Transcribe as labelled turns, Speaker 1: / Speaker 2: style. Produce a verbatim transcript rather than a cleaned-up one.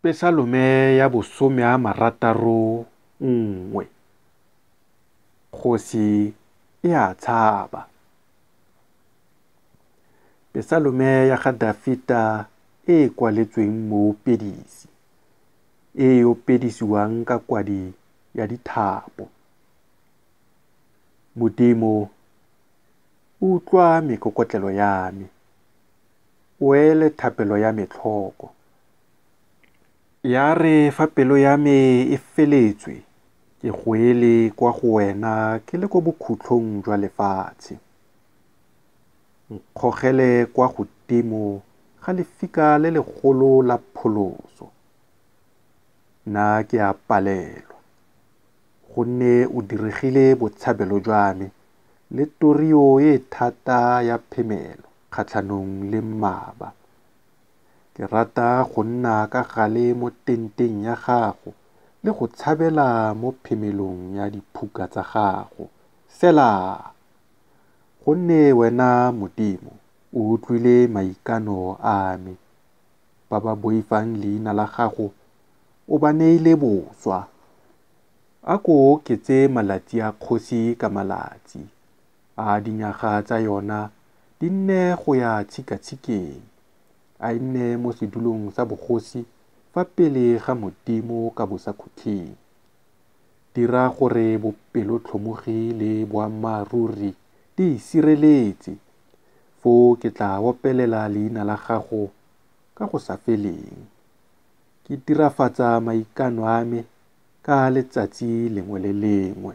Speaker 1: Pesalome ya bosome a marataro nngwe. Kgosi e a tshaba. Pesalome ya ga Dafita e e kwaletsweng moopedisi, e e opedisiwang ka kwadi ya dithapo. Modimo, utlwa mekokotlelo ya me, o ele thapelo ya me tlhoko. Ya re fa pelo ya me e feletswe, ke goele kwa go wena ke le kwa bokhutlong jwa lefatshe. Nkgogele kwa godimo ga lefika le legolo la pholoso. Nna ke a palelwa, gonne o diregile botshabelo jwa me le torio e e thata ya phemelo kgatlhanong le mmaba. Ke rata go nna ka gale mo tenteng ya gago le go tshabela mo phemelong ya diphuka tsa gago. Selah. Gonne wena Modimo, o utlwile maikano a me, ba ba boifang leina la gago o ba neile boswa. A ko o oketse malatsi a kgosi ka malatsi, a dinyaga tsa yona di nne go ya tshikatshikeng, a e nne mo sedulong sa bogosi fa pele ga Modimo ka bosakhutleng. Dira gore bopelotlhomogi le boammaaruri di e sireletse, foo ke tla opelela leina la gago ka go sa feleng, ke dirafatsa maikano a me ka letsatsi lengwe le lengwe.